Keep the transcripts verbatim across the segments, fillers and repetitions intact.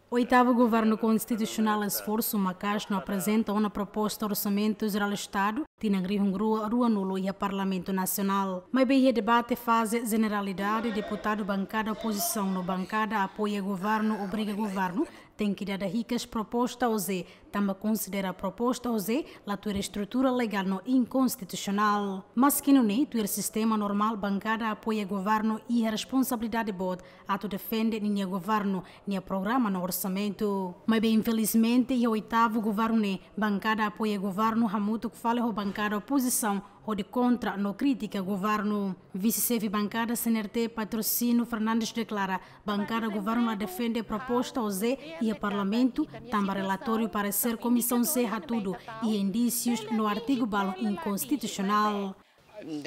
Oitavu Governu Konstitusionál esforsu maka'as no aprezenta ona proposta Orsamentu Jerál Estadu tinan rihun rua ruanulu iha Parlamentu Nasionál. Maibé iha debate faze jeneralidade, deputadu bankada opozisaun no bankada apoia governu obriga governu tenke dada hikas proposta OJE, tanba konsidera proposta OJE la tuir estrutura legál no inkonstitusionál. Maski nune'e, tuir sistema normál, bankada apoia governu iha responsabilidade boot atu defende ninia governu nia programa no orsamentu. Maibé infelizmente, iha oitavu governu ne'e, bankada apoia governu hamutuk fali ho bankada opozisaun hodi kontra no kritika governu. Vise-xefe bankada CNRT, Patrocínio Fernandes, deklara bankada governu la defende proposta OJE iha Parlamentu, tanba relatóriu paresér Komisaun C hatudu iha indísius no artigu balu inkonstitusionál.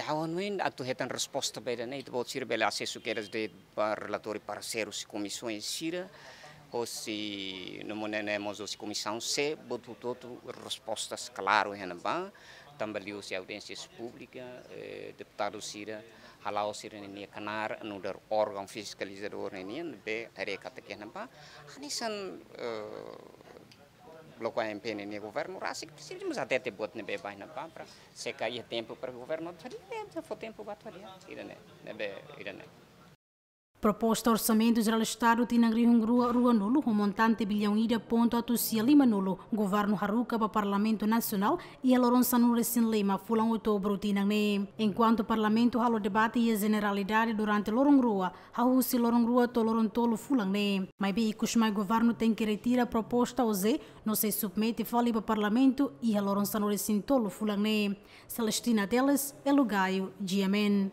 Ha'u hanoin atu hetan resposta ba ida-ne'e, ita-boot sira bele asesu kedas de'it ba relatóriu paresér husi komisaun sira, husi, no mós ne'e mós husi Komisaun C, buat hotu-hotu respostas klaru iha ne'ebá, tanba liuhusi audiénsia públika, eh, deputadu sira, hala'o sira-nia knaar nu'udar órgaun fiskalizadór ne'e nian, ne'ebé haree katak iha ne'ebá hanesan, eh, bloku AMP ne'e nia governu rasik, presiza mós hatete buat ne'ebé ba iha ne'ebá para se kaer tempu para governu atu hadi'a, eh, fó tempu ba atu hadi'a, ida-ne'e, ne'ebé, ida-ne'e. Proposta Orsamentu Jerál Estadu tinan rihun rua ruanulu ho montante biliaun ida pontu atus sia limanulu, governu haruka ba Parlamentu Nasionál iha loron sanulu-resin-lima fulan Outubru tinan ne'e. Enkuantu Parlamentu halo debate iha jeneralidade durante loron rua, hahú husi loron rua to'o loron tolu fulan ne'e. Maibé ikusmai governu tenke retira proposta OJE no sei submete fali ba Parlamentu iha loron sanulu-resin-tolu fulan ne'e. Celestina Teles, Elo Gaio, GMN.